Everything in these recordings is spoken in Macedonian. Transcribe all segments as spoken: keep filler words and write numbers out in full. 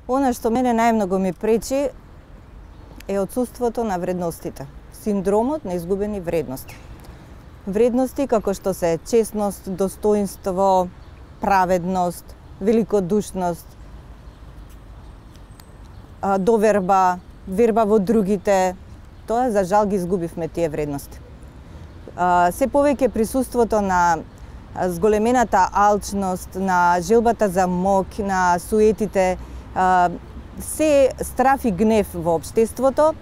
Она што мене најмногу ми пречи е отсуството на вредностите, синдромот на изгубени вредности. Вредности како што се честност, достоинство, праведност, великодушност, доверба, верба во другите. Тоа за жал ги изгубивме тие вредности. Се повеќе присуството на зголемената алчност, на желбата за мок, на суетите, се страф и гнев во општеството,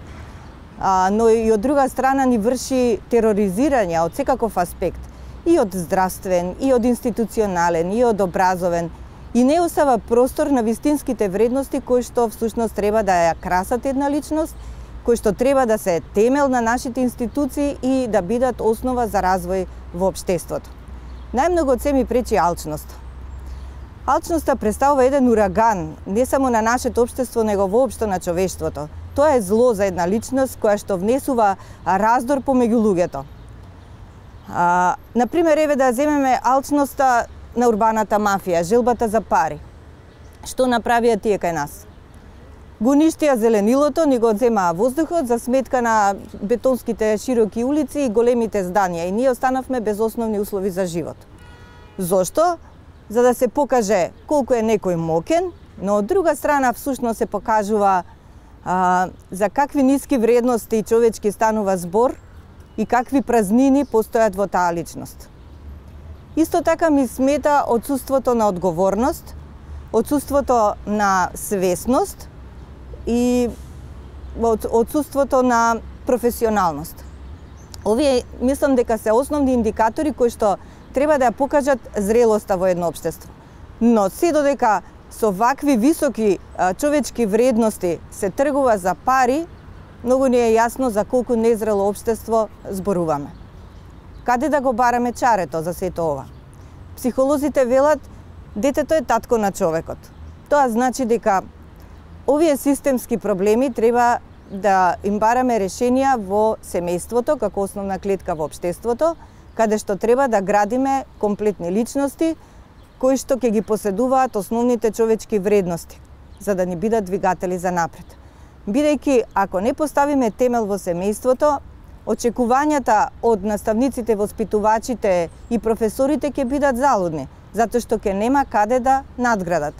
но и од друга страна ни врши тероризирање од секаков аспект, и од здравствен, и од институционален, и од образовен, и не остава простор на вистинските вредности кои што всушност треба да ја красат една личност, кои што треба да се темел на нашите институции и да бидат основа за развој во општеството. Најмногу од се ми пречи алчност. Алчноста представува еден ураган, не само на нашето општество, него воопшто на човештвото. Тоа е зло за една личност која што внесува раздор помеѓу луѓето. А, например, еве да земеме алчноста на урбаната мафија, желбата за пари. Што направија тие кај нас? Го уништија зеленилото, ни го одземаа воздухот за сметка на бетонските широки улици и големите зданија, и ние останавме без основни услови за живот. Зошто? За да се покаже колку е некој мокен, но од друга страна всушност се покажува а, за какви ниски вредности човечки станува збор и какви празнини постојат во таа личност. Исто така ми смета отсуството на одговорност, отсуството на свесност и отсуството на професионалност. Овие мислам дека се основни индикатори кои што треба да ја покажат зрелоста во едно општество. Но се додека со вакви високи а, човечки вредности се тргува за пари, многу не е јасно за колку незрело општество зборуваме. Каде да го бараме чарето за сето ова? Психолозите велат, детето е татко на човекот. Тоа значи дека овие системски проблеми треба да им бараме решенија во семејството како основна клетка во општеството, каде што треба да градиме комплетни личности кои што ќе ги поседуваат основните човечки вредности, за да ни бидат двигатели за напред. Бидејќи, ако не поставиме темел во семејството, очекувањата од наставниците, воспитувачите и професорите ќе бидат залудни, затоа што ќе нема каде да надградат.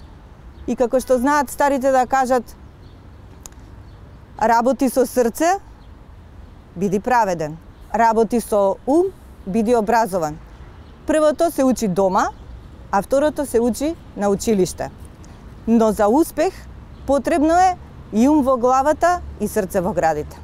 И како што знаат старите да кажат, работи со срце, биди праведен. Работи со ум, биди образован. Првото се учи дома, а второто се учи на училиште. Но за успех потребно е и ум во главата и срце во градите.